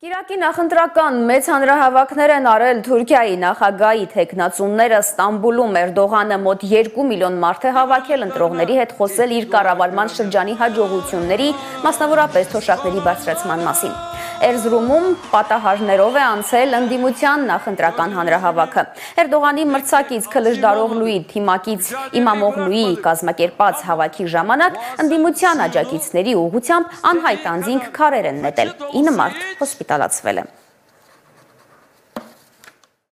Կիրակի նախընտրական մեծ հանրահավաքներ են արել Թուրքիայի նախագահի թեկնածուները Ստամբուլում Էրդողանը մոտ 2 միլիոն մարդ է հավաքել ընտրողների հետ խոսել իր կառավարման շրջանի հաջողությունների, մասնավորապես թոշակների բարձրացման մասին։ Էրզրումում պատահարներով է անցել ընդդիմության նախընտրական հանրահավաքը։ Էրդողանի մրցակից Քլժդարօղլուի թիմակից Իմամօղլուի կազմակերպած հավաքի ժամանակ ընդդիմության աջակիցների ուղղությամբ անհայտ անձինք քարեր են նետել։ 9 մարդ հոսպիտալացվել է։